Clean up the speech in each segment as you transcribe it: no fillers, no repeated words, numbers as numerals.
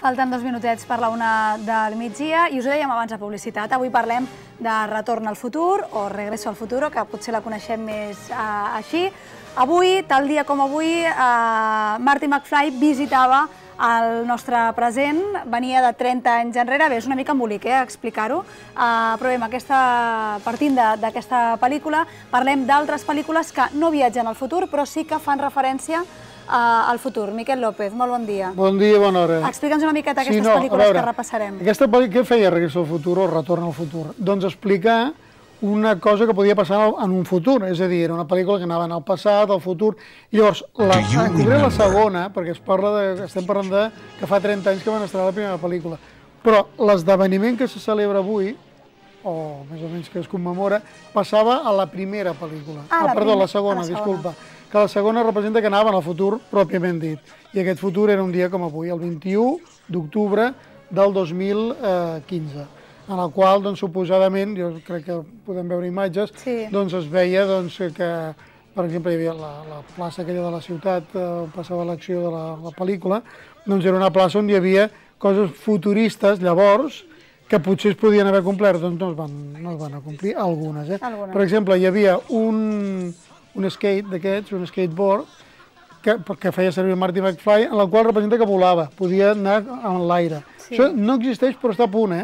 Falten 2 minutets per la 1 del migdia i us ho dèiem abans de publicitat. Avui parlem de Retorn al futur o Regreso al futuro, que potser la coneixem més així. Avui, tal dia com avui, Marty McFly visitava el nostre present, venia de 30 anys enrere. Bé, és una mica embolic explicar-ho, però bé, partint d'aquesta pel·lícula, parlem d'altres pel·lícules que no viatgen al futur, però sí que fan referència al futur. Miquel López, molt bon dia. Bon dia, bona hora. Explica'ns una miqueta aquestes pel·lícules que repassarem. Aquesta pel·lícula, què feia Regreso al futur o Retorn al futur? Doncs explicar una cosa que podia passar en un futur, és a dir, era una pel·lícula que anava al passat, al futur, i llavors, en concret la segona, perquè estem parlant que fa 30 anys que van estrenar la primera pel·lícula, però l'esdeveniment que se celebra avui, o més o menys que es commemora, passava a la primera pel·lícula. Perdó, la segona, disculpa. Que la segona representa que anaven al futur pròpiament dit. I aquest futur era un dia com avui, el 21 d'octubre del 2015, en el qual, suposadament, jo crec que podem veure imatges, es veia que, per exemple, hi havia la plaça aquella de la ciutat on passava l'acció de la pel·lícula, doncs era una plaça on hi havia coses futuristes, llavors, que potser es podien haver complert, doncs no es van complir, algunes. Per exemple, hi havia un skate d'aquests, un skateboard, que feia servir Marty McFly, en la qual representa que volava, podia anar en l'aire. Això no existeix, però està a punt,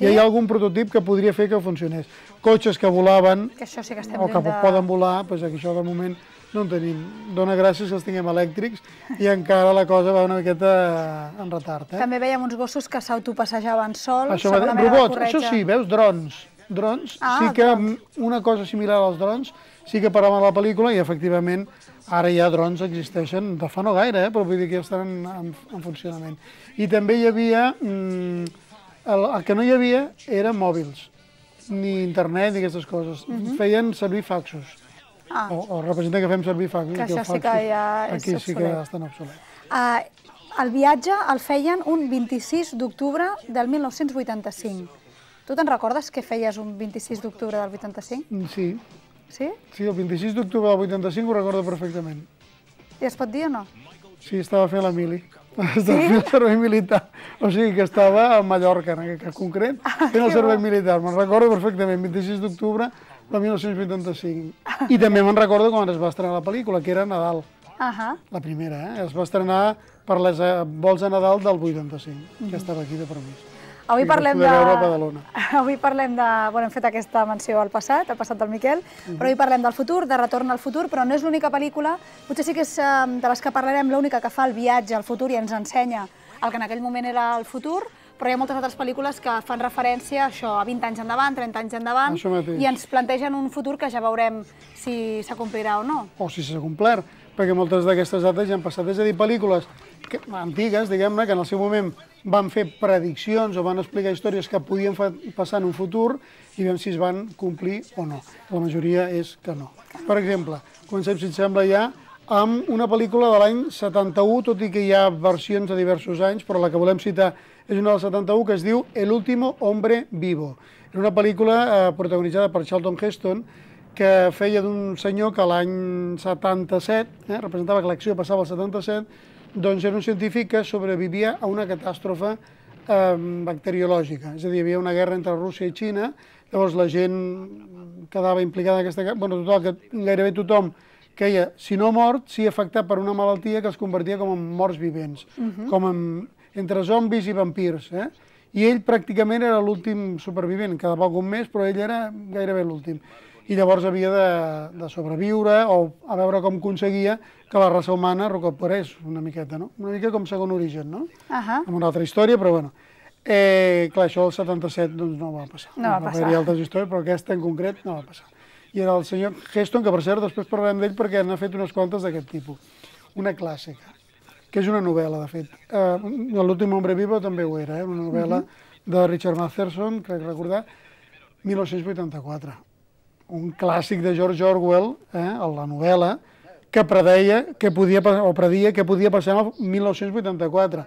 I hi ha algun prototip que podria fer que funcionés. Cotxes que volaven, o que poden volar, doncs això de moment no en tenim. Dóna gràcies que els tinguem elèctrics i encara la cosa va una miqueta en retard. També veiem uns gossos que s'autopassejaven sols. Robots, això sí, veus, drons. Drons, sí que una cosa similar als drons, sí que paraven la pel·lícula i efectivament ara ja drons existeixen de fa no gaire, però vull dir que ja estan en funcionament. I també hi havia, el que no hi havia eren mòbils, ni internet ni aquestes coses, feien servir faxos. O representa que fem servir faxos. Que això sí que ja és obsolet. Aquí sí que estan obsolets. El viatge el feien un 26 d'octubre del 1985. Tu te'n recordes què feies un 26 d'octubre del 85? Sí. Sí? Sí, el 26 d'octubre del 85 ho recordo perfectament. I es pot dir o no? Sí, estava fent la mili. Estava fent el servei militar. O sigui que estava a Mallorca, en aquest concret, fent el servei militar. Me'n recordo perfectament, 26 d'octubre del 1985. I també me'n recordo quan es va estrenar la pel·lícula, que era Nadal. La primera, Es va estrenar per les vols de Nadal del 85, que estava aquí de permís. Avui parlem de... Hem fet aquesta menció al passat del Miquel, però avui parlem del futur, de Retorn al futur, però no és l'única pel·lícula, potser sí que és de les que parlarem, l'única que fa el viatge al futur i ens ensenya el que en aquell moment era el futur, però hi ha moltes altres pel·lícules que fan referència a això, a 20 anys endavant, 30 anys endavant, i ens plantegen un futur que ja veurem si s'acomplirà o no. O si s'ha complert, perquè moltes d'aquestes dates ja han passat. És a dir, pel·lícules antigues, diguem-ne, que en el seu moment van fer prediccions o van explicar històries que podien passar en un futur i veiem si es van complir o no. La majoria és que no. Per exemple, comencem, si et sembla ja, amb una pel·lícula de l'any 71, tot i que hi ha versions de diversos anys, però la que volem citar és una del 71 que es diu El último hombre vivo. Era una pel·lícula protagonitzada per Charlton Heston, que feia d'un senyor que l'any 77, representava que l'acció passava al 77, doncs era un científic que sobrevivia a una catàstrofe bacteriològica. És a dir, hi havia una guerra entre Rússia i Xina, llavors la gent quedava implicada en aquesta guerra, total, que gairebé tothom queia, si no mort, sí afectat per una malaltia que els convertia com en morts vivents, com entre zombis i vampirs. I ell pràcticament era l'últim supervivent, quedava algun més, però ell era gairebé l'últim. I llavors havia de sobreviure o a veure com aconseguia que la raça humana recuperés una miqueta, no? Una mica com Segon Origen, no? Amb una altra història, però bueno. Clar, això del 77 doncs no va passar. No va passar. Va haver-hi altres històries, però aquesta en concret no va passar. I era el senyor Heston, que per cert després parlarem d'ell perquè n'ha fet unes quantes d'aquest tipus. Una clàssica, que és una novel·la, de fet. L'últim hombre vivo també ho era, una novel·la de Richard Matheson, crec recordar, 1984. Un clàssic de George Orwell, la novel·la, que predia que podia passar el 1984.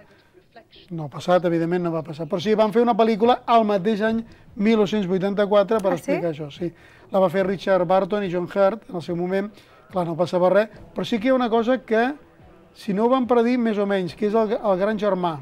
No ha passat, evidentment no va passar, però sí, van fer una pel·lícula al mateix any 1984 per explicar això. Sí, la va fer Richard Barton i John Hurt en el seu moment, clar, no passava res, però sí que hi ha una cosa que, si no ho van predir més o menys, que és el gran germà,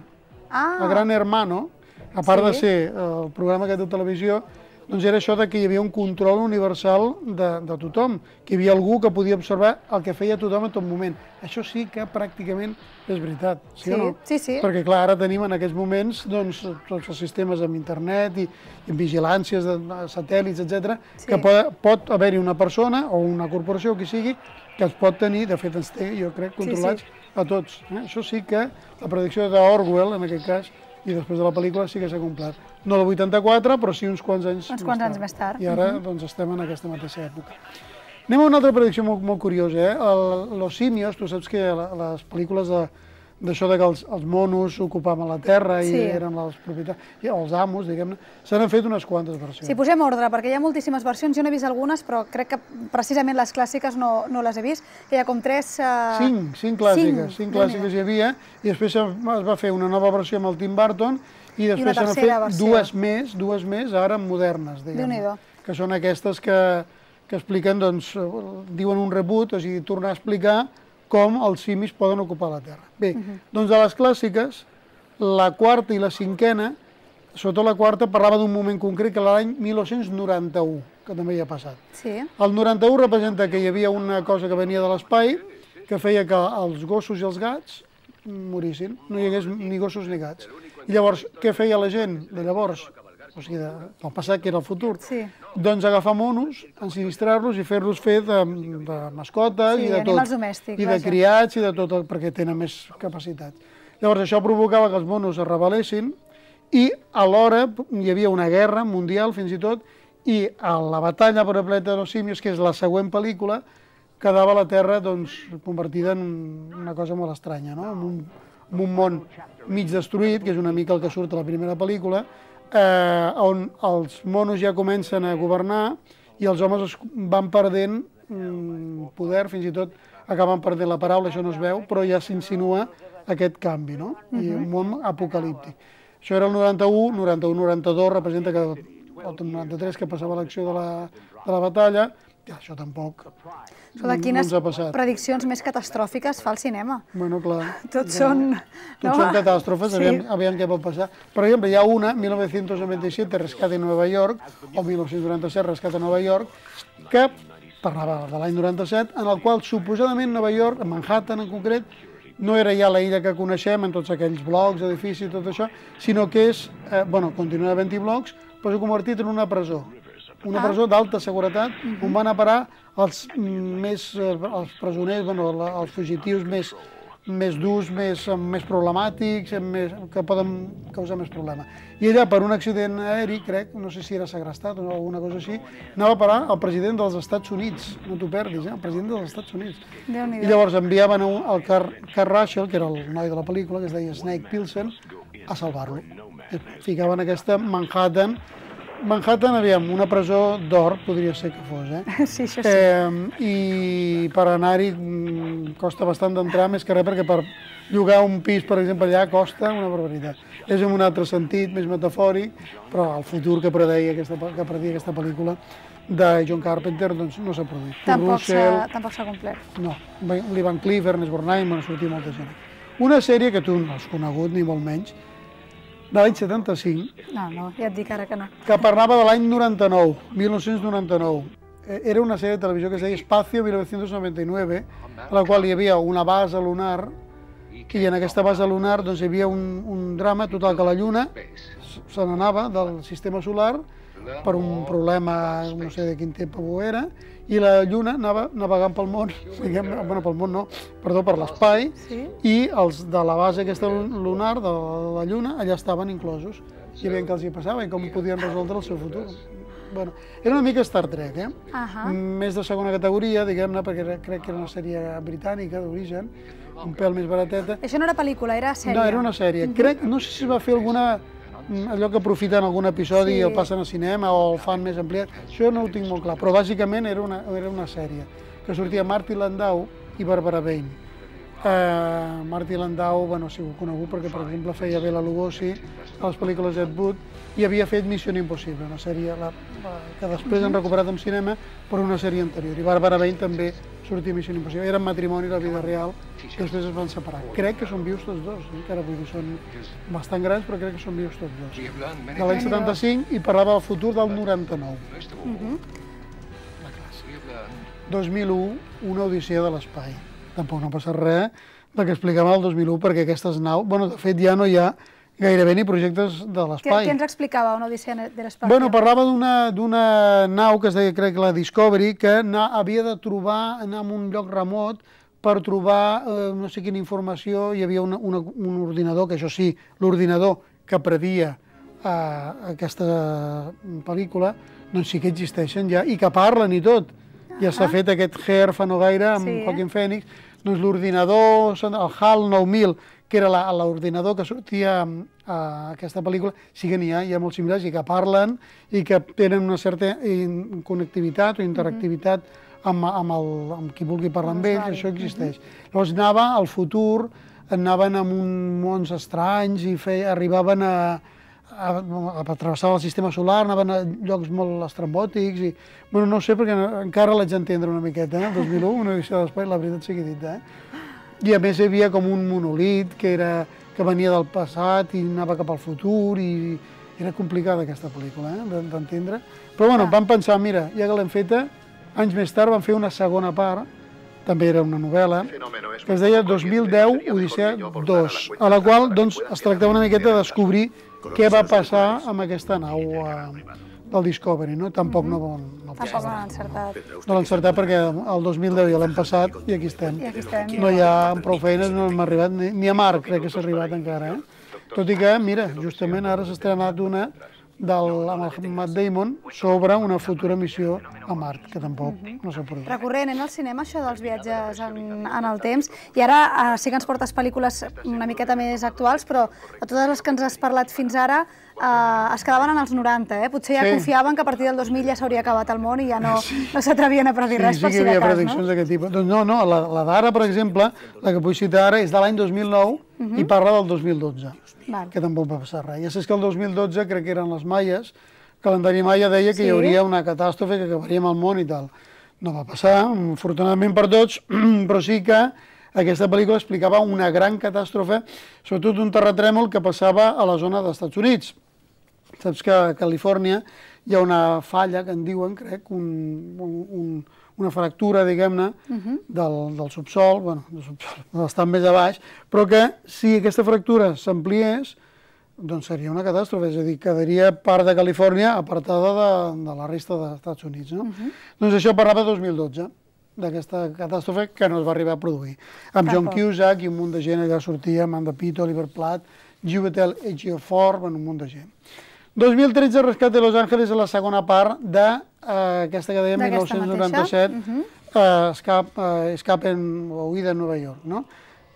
el Gran Hermano, a part de ser el programa aquest de televisió, doncs era això que hi havia un control universal de tothom, que hi havia algú que podia observar el que feia tothom en tot moment. Això sí que pràcticament és veritat, sí o no? Sí. Perquè clar, ara tenim en aquests moments tots els sistemes amb internet i vigilàncies de satèl·lits, etc., que pot haver-hi una persona o una corporació o qui sigui que es pot tenir, de fet ens té, jo crec, controlats a tots. Això sí que la predicció d'Orwell, en aquest cas, i després de la pel·lícula sí que s'ha complert. No del 84, però sí uns quants anys més tard. I ara doncs, estem en aquesta mateixa època. Anem a una altra predicció molt curiosa. Los simios, tu saps que les pel·lícules d'això que els monos ocupaven la terra i eren els propietaris, els amos, diguem-ne, se n'han fet unes quantes versions. Sí, posem ordre, perquè hi ha moltíssimes versions, jo n'he vist algunes, però crec que precisament les clàssiques no les he vist, que hi ha com 3... Cinc clàssiques hi havia, i després es va fer una nova versió amb el Tim Burton, i després se n'han fet dues més, ara modernes, diguem-ne, que són aquestes que expliquen, doncs, diuen un reboot, o sigui, tornar a explicar com els simis poden ocupar la Terra. Bé, doncs de les clàssiques, la quarta i la cinquena, sobretot la quarta, parlava d'un moment concret, que era l'any 1991, que també hi ha passat. El 91 representa que hi havia una cosa que venia de l'espai, que feia que els gossos i els gats morissin, no hi hagués ni gossos ni gats. I llavors, què feia la gent de llavors? O sigui, del passat, que era el futur. Doncs agafar monos, ensinistrar-los i fer-los fer de mascotes i de tot. Animals domèstics. I de criats i de tot, perquè tenen més capacitat. Llavors, això provocava que els monos es rebel·lessin i alhora hi havia una guerra mundial, fins i tot, i a la batalla per el planeta de los simios, que és la següent pel·lícula, quedava la Terra convertida en una cosa molt estranya, en un món mig destruït, que és una mica el que surt a la primera pel·lícula, on els monos ja comencen a governar i els homes van perdent poder, fins i tot acaben perdent la paraula, això no es veu, però ja s'insinua aquest canvi, no? I un món apocalíptic. Això era el 91, 92 representa que el 93 que passava l'acció de la batalla, això tampoc no ens ha passat. Quines prediccions més catastròfiques fa el cinema? Bueno, clar. Tots són catàstrofes, aviam què pot passar. Per exemple, hi ha una, 1997, Rescate en Nova York, o 1997, Rescate a Nova York, que parlava de l'any 97, en el qual suposadament Nova York, Manhattan en concret, no era ja la illa que coneixem en tots aquells blocs, edificis i tot això, sinó que és, continua havent-hi blocs, però s'ha convertit en una presó. Una presó d'alta seguretat, on van a parar els presoners, els fugitius més durs, més problemàtics, que poden causar més problema. I allà, per un accident aeri, crec, no sé si era segrestat o alguna cosa així, anava a parar el president dels Estats Units, no t'ho perdis, el president dels Estats Units. I llavors enviaven el Kurt Russell, que era el noi de la pel·lícula, que es deia Snake Plissken, a salvar-lo. Ficaven aquesta Manhattan, aviam, una presó d'or, podria ser que fos, Sí, això sí. I per anar-hi costa bastant d'entrar, més que res, perquè per llogar un pis, per exemple, allà costa una barbaritat. És en un altre sentit, més metafòric, però el futur que predia aquesta pel·lícula de John Carpenter doncs no s'ha produït. Tampoc s'ha complert. No, l'Ivan Cliff, Ernest Borgnine, sortia molta gent. Una sèrie que tu no has conegut, ni molt menys, de l'any 75. No, ja et dic ara que no. Que parlava de l'any 99, 1999. Era una sèrie de televisió que es deia Espacio 1999, a la qual hi havia una base lunar, i en aquesta base lunar doncs, hi havia un drama total, que la Lluna se n'anava del sistema solar per un problema, no sé de quin tipus era, i la Lluna anava navegant pel món, pel món no, perdó, per l'espai, i els de la base aquesta lunar, de la Lluna, allà estaven inclosos, i veient què els hi passava i com podien resoldre el seu futur. Era una mica Star Trek, més de segona categoria, diguem-ne, perquè crec que era una sèrie britànica d'origen, un pèl més barateta. Això no era pel·lícula, era sèrie? No, era una sèrie. No sé si es va fer alguna allò que aprofiten algun episodi i el passen al cinema o el fan més ampliat, això no ho tinc molt clar, però bàsicament era una sèrie que sortia Martin Landau i Barbara Bain, Martin Landau ha sigut conegut perquè, per exemple, feia Bela Lugosi a les pel·lícules d'Ed Wood i havia fet Missió Impossible, una sèrie que després han recuperat en cinema per una sèrie anterior. I Barbara Bain també sortia a Missió Impossible. Eren matrimoni a la vida real i després es van separar. Crec que són vius tots dos, encara vull dir, són bastant grans, però crec que són vius tots dos. De l'any 75 i parlava del futur del 99. 2001, una odissea de l'espai. Tampoc no passa res del que explicàvem el 2001, perquè aquestes naus... Bueno, de fet, ja no hi ha gairebé ni projectes de l'espai. Què ens explicava una odissea de l'espai? Bueno, parlava d'una nau que es deia, crec, la Discovery, que havia de trobar, anar a un lloc remot per trobar no sé quina informació. Hi havia un ordinador, que això sí, l'ordinador que predia aquesta pel·lícula, doncs sí que existeixen ja, i que parlen i tot. Ja s'ha fet aquest Her fa no gaire amb Joaquin Phoenix, doncs l'ordinador, el HAL 9000, que era l'ordinador que sortia a aquesta pel·lícula, sí que n'hi ha molts similars i que parlen i que tenen una certa connectivitat o interactivitat amb qui vulgui parlar amb ells, això existeix. Llavors anava al futur, anaven a mons estranys i arribaven a travessar el sistema solar, anaven a llocs molt estrambòtics i... Bueno, no ho sé, perquè encara l'haig d'entendre una miqueta, el 2001, una edició de l'espai, la veritat sigui dita, I a més hi havia com un monolit que venia del passat i anava cap al futur i era complicada aquesta pel·lícula, d'entendre. Però bueno, vam pensar, mira, ja que l'hem feta, anys més tard van fer una segona part, també era una novel·la, que es deia 2010 Odissea 2, a la qual doncs, es tractava una miqueta de descobrir què va passar amb aquesta nau del Discovery, no? Tampoc no l'han encertat. No l'han encertat perquè el 2010 ja l'hem passat i aquí estem. No hi ha prou feines, no hem arribat, ni a Mart crec que s'ha arribat encara. Tot i que, mira, justament ara s'ha estrenat una amb el Matt Damon sobre una futura missió a Mart, que tampoc no s'ha produït. Recurrent al cinema, això dels viatges en el temps, i ara sí que ens portes pel·lícules una miqueta més actuals, però de totes les que ens has parlat fins ara es quedaven en els 90, Potser ja confiaven que a partir del 2000 ja s'hauria acabat el món i ja no s'atrevien a predir res per si de cas, no? Sí, que hi havia prediccions d'aquest tipus. Doncs no, la d'ara, per exemple, la que vull citar ara, és de l'any 2009 i parla del 2012. Que tampoc va passar res. Ja saps que el 2012, crec que eren les maies, el calendari maia deia que hi hauria una catàstrofe, que acabaríem el món i tal. No va passar, afortunadament per tots, però sí que aquesta pel·lícula explicava una gran catàstrofe, sobretot un terratrèmol que passava a la zona dels Estats Units. Saps que a Califòrnia hi ha una falla, que en diuen, crec, una fractura, diguem-ne, del subsol, bastant més a baix, però que si aquesta fractura s'ampliés, doncs seria una catàstrofe, és a dir, quedaria part de Califòrnia apartada de la resta dels Estats Units. Doncs això parlava de 2012, d'aquesta catàstrofe que no es va arribar a produir. Amb John Cusack i un munt de gent allà sortia, Amanda Pitt, Oliver Platt, Chiwetel Ejiofor, un munt de gent. 2013, Rescat de Los Ángeles, és la segona part d'aquesta que dèiem, 1997, Escape o Huida en Nova York.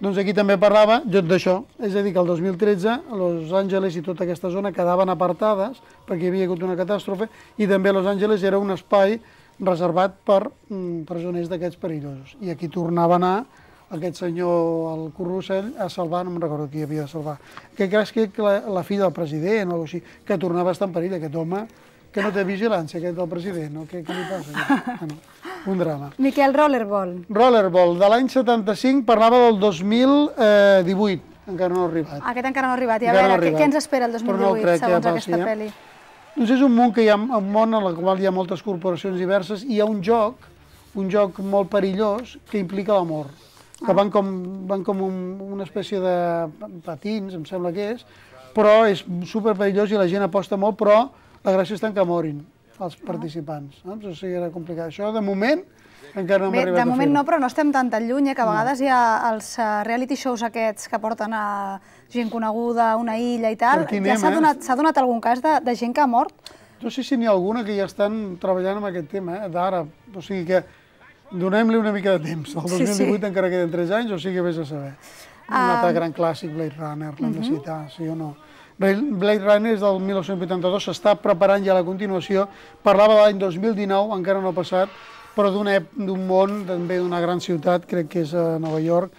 Doncs aquí també parlava d'això, és a dir, que el 2013 Los Angeles i tota aquesta zona quedaven apartades perquè hi havia hagut una catàstrofe i també Los Angeles era un espai reservat per presoners d'aquests perillosos. I aquí tornava a anar aquest senyor, el Currussell, a salvar, no me'n recordo qui havia de salvar, que crec que la filla del president o així, que tornava a estar en perill, aquest home, que no té vigilància, aquest del president, no? Què li passa? Un drama. Miquel, Rollerball. Rollerball, de l'any 75, parlava del 2018, encara no ha arribat. Aquest encara no ha arribat, i a veure, què ens espera el 2018, segons aquesta pel·li? Doncs és un món en el qual hi ha moltes corporacions diverses i hi ha un joc molt perillós que implica l'amor. Que van com una espècie de patins, em sembla que és, però és superperillós i la gent aposta molt, però la gràcia està en que morin els participants. O sigui, era complicat. Això, de moment, encara no hem arribat a fer-ho. De moment no, però no estem tan lluny, que a vegades hi ha els reality shows aquests que porten a gent coneguda a una illa i tal. Ja s'ha donat algun cas de gent que ha mort? No sé si n'hi ha alguna que ja estan treballant amb aquest tema, d'ara. O sigui que donem-li una mica de temps. El 2018 encara queden 3 anys, o sigui, vés a saber. Un altre gran clàssic, Blade Runner, l'hem de citar, sí o no? Blade Runner és del 1982, s'està preparant ja la continuació. Parlava de l'any 2019, encara no ha passat, però d'un món, també d'una gran ciutat, crec que és a Nova York,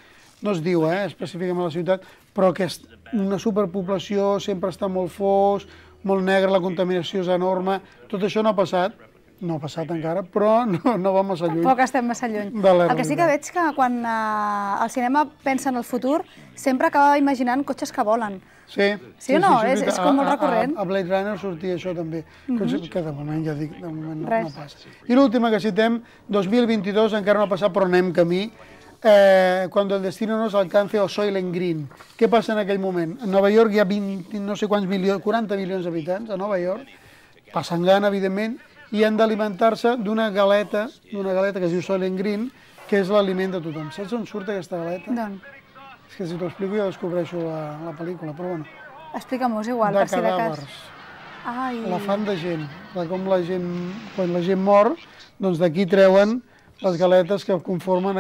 no es diu específicament a la ciutat, però que és una superpoblació, sempre està molt fos, molt negre, la contaminació és enorme. Tot això no ha passat, encara, però no va massa lluny. Tampoc estem massa lluny. El que sí que veig que quan el cinema pensa en el futur, sempre acaba imaginant cotxes que volen. Sí o no? És com molt recurrent. A Blade Runner sortia això també, que de moment ja dic, de moment no passa. I l'última que citem, 2022, encara no ha passat, però anem camí, cuando el destino nos alcance o Soylent Green. Què passa en aquell moment? A Nova York hi ha 20, no sé quants milions, 40 milions d'habitants a Nova York, passen gana, evidentment, i han d'alimentar-se d'una galeta que es diu Soylent Green, que és l'aliment de tothom. Saps on surt aquesta galeta? D'on? És que si t'ho explico ja descobreixo la pel·lícula, però bueno. Explica-m'ho, és igual, per si de cas. La fan de gent, de com la gent, quan la gent mor, doncs d'aquí treuen les galetes que conformen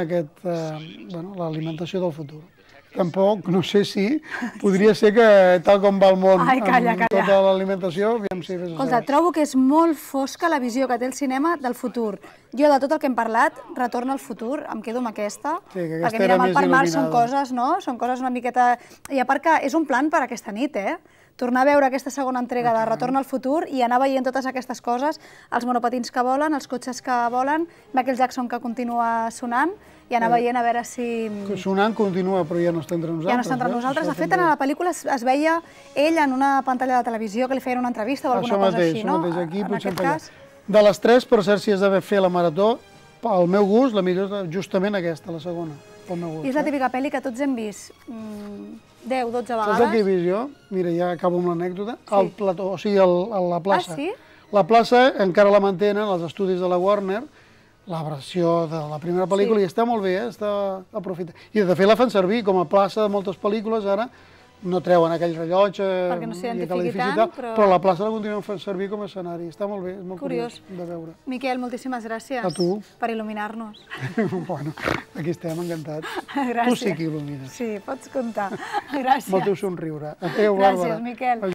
l'alimentació del futur. Tampoc, no sé si, podria ser que tal com va el món amb tota l'alimentació, aviam si... Escolta, trobo que és molt fosca la visió que té el cinema del futur. Jo, de tot el que hem parlat, Retorn al futur, em quedo amb aquesta, perquè mira, el Parc Mar són coses, no? Són coses una miqueta... I a part que és un plan per aquesta nit, tornar a veure aquesta segona entrega de Retorn al futur i anar veient totes aquestes coses, els monopatins que volen, els cotxes que volen, Michael Jackson que continua sonant, i anar veient a veure si... Sonant continua, però ja no està entre nosaltres. Ja no està entre nosaltres. De fet, en la pel·lícula es veia ell en una pantalla de televisió que li feien una entrevista o alguna cosa així, no? Això mateix, aquí potser en cas. De les tres, per cert, si has de fer la marató, al meu gust, la millor és justament aquesta, la segona. I és la típica pel·li que tots hem vist 10, 12 vegades. Saps el que he vist jo? Mira, ja acabo amb l'anècdota. Al plató, o sigui, a la plaça. Ah, sí? La plaça encara la mantenen, els estudis de la Warner, la versió de la primera pel·lícula, i està molt bé, està aprofitat. I de fet la fan servir com a plaça de moltes pel·lícules, ara no treuen aquell rellotge perquè no s'identifiqui tant, però la plaça la continuen fent servir com a escenari. Està molt bé, és molt curiós de veure. Miquel, moltíssimes gràcies per il·luminar-nos. Bueno, aquí estem, encantats. Gràcies. Tu sí que il·lumines. Sí, pots comptar. Gràcies. Amb el teu somriure. Adéu, Bàrbara. Gràcies, Miquel.